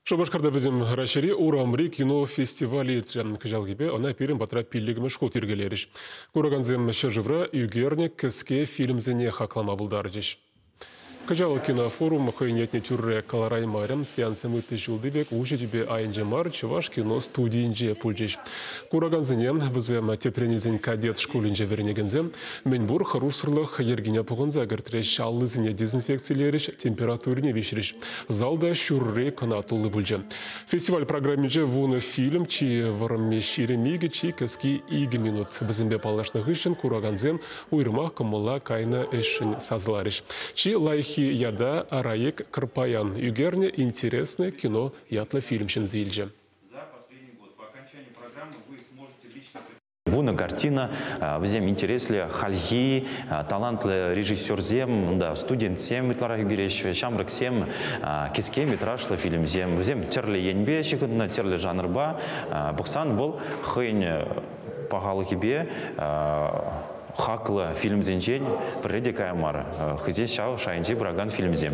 Шупашкарта Пӗтӗм Раҫҫейри урамри кино фестивалӗ иртрӗ. Кӑҫалхипе ӑна пирӗн патра пиллӗкмӗш хут йӗркелерӗҫ. Куракансем ҫӗршывра ӳкернӗ кӗске фильмсене хаклама пултарчӗҫ. Кӑҫал кинофорум хӑйӗн ятне тӳрре кӑлараймарӗ. Сеанссем ытти ҫулти пек уҫӑ тӳпе айӗнче мар, Чӑваш кино студийӗнче пулчӗҫ. Куракансене вӗсем тӗпрен илсен кадет шкулӗнче вӗренекенсем мӗнпур хӑрушсӑрлӑх йӗркине пӑхӑнса кӗртрӗҫ, аллисене дезинфекцилерӗҫ, температурине виҫрӗҫ. Залта ҫурри кӑна тулли пулчӗ. Фестиваль программинче 10 фильм, чи вӑрӑмми 22, чи кӗски 2 минут. Вӗсемпе паллашнӑ хыҫҫӑн куракансем уйрӑмах кӑмӑла кайнӑ ӗҫшӗн сасӑларӗҫ. Чи лайӑххи ята Раек Кӑрпаян ӳкернӗ «Интересное кино» ятлӑ фильм ҫӗнсе илчӗ. 10 картина, вӗсем интереслӗ, хальхи талантлӑ режиссерсем, унта студентсем ытларах ӳкереҫҫӗ, ҫамрӑксем, кӗске метражлӑ фильмсем. Вӗсем тӗрлӗ енпе ҫыхӑннӑ, тӗрлӗ жанрпа. Пӑхсан вӑл хӑйӗн пахалӑхӗпе хаклӑ фильмсенчен пӗрре те кая мар. Хӑйсен ҫав шайӗнче пыракан фильмсем.